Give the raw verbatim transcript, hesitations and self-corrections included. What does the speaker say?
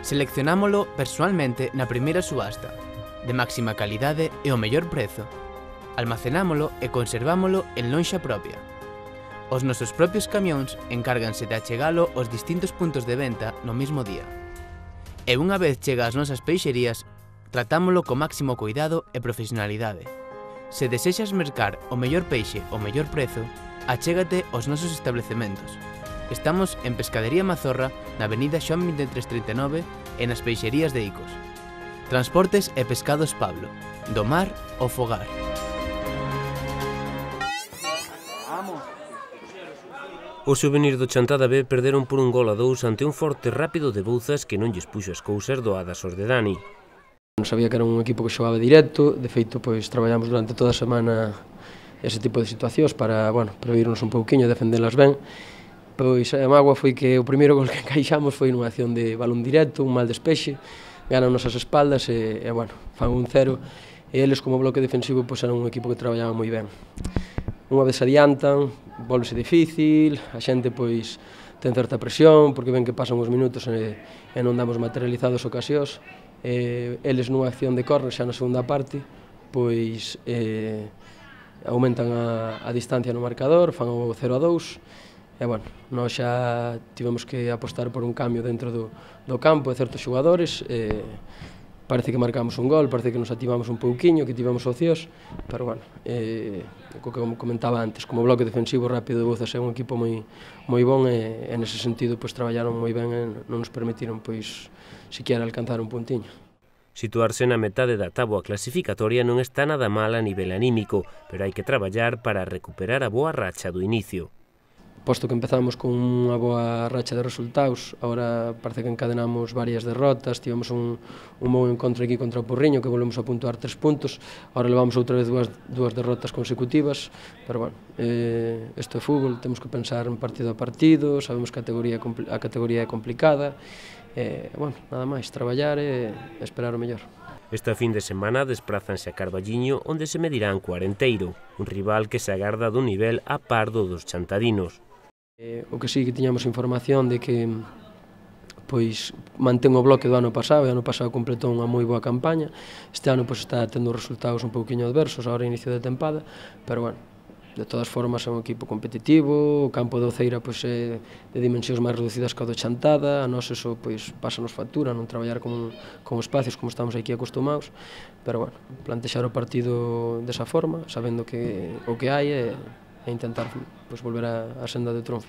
Seleccionámolo persoalmente na primeira subasta, de máxima calidade e o mellor prezo. Almacenámolo e conservámolo en lonxa propia. Os nosos propios camións encárganse de achegalo aos distintos puntos de venta no mesmo día. E unha vez chega ás nosas peixerías, tratámolo co máximo cuidado e profesionalidade. Se desexas mercar o mellor peixe ao mellor prezo, achégate aos nosos establecementos. Estamos en Pescadería Mazorra, na avenida Xoán vinte e tres trinta e nove e nas peixerías de Icos. Transportes e Pescados Pablo, do mar ao fogar. Os xuvenís do Chantada B perderon por un gol a dous ante un forte rápido de Bouzas que non lles puxo as cousas doadas aos de Dani. Non sabía que era un equipo que xogaba directo, de feito pois traballamos durante toda a semana ese tipo de situacións para, bueno, previrnos un pouquiño e defendelas ben. Pois a mágoa foi que o primeiro gol que encaixamos foi nunha acción de balón directo, un mal despexe, ganan nosas espaldas e, e bueno, fan un cero, e eles como bloque defensivo pois eran un equipo que traballaba moi ben. Unha vez se adiantan, volvese difícil, a xente pois ten certa presión, porque ven que pasan os minutos e, e non damos materializados ocasións, e eles nunha acción de córner xa na segunda parte, pois eh, aumentan a, a distancia no marcador, fan o cero a dous, e, bueno, nós xa tivemos que apostar por un cambio dentro do, do campo de certos xogadores, e parece que marcamos un gol, parece que nos activamos un pouquiño, que tivemos opcións, pero, bueno, eh, o que comentaba antes, como bloque defensivo rápido de Bouzas é un equipo moi, moi bon e, e nese sentido, pois, traballaron moi ben e non nos permitiron, pois, siquiera alcanzar un puntiño. Situarse na metade da táboa clasificatoria non está nada mal a nivel anímico, pero hai que traballar para recuperar a boa racha do inicio. Posto que empezamos con unha boa racha de resultados, agora parece que encadenamos varias derrotas, tivemos un, un bon encontro aquí contra o Porriño, que volvemos a puntuar tres puntos, agora levamos outra vez dúas, dúas derrotas consecutivas, pero, bueno, eh, isto é fútbol, temos que pensar en partido a partido, sabemos que a categoría, a categoría é complicada, e, bueno, nada máis, traballar e esperar o mellor. Esta fin de semana desprázanse a Carballiño, onde se medirán co Arenteiro, un rival que se agarda dun nivel a par do dos chantadinos. Eh, o que sí que tiñamos información de que pois mantén o bloque do ano pasado, e o ano pasado completou unha moi boa campaña, este ano pois está tendo resultados un pouquiño adversos agora inicio de tempada, pero, bueno, de todas formas é un equipo competitivo, o campo do Ceira pois é de dimensións máis reducidas que o do Chantada, a nós eso pois pásanos factura, non traballar con, con espacios como estamos aquí acostumados, pero, bueno, plantexar o partido desa forma, sabendo que o que hai é e intentar, pois, volver á senda do triunfo.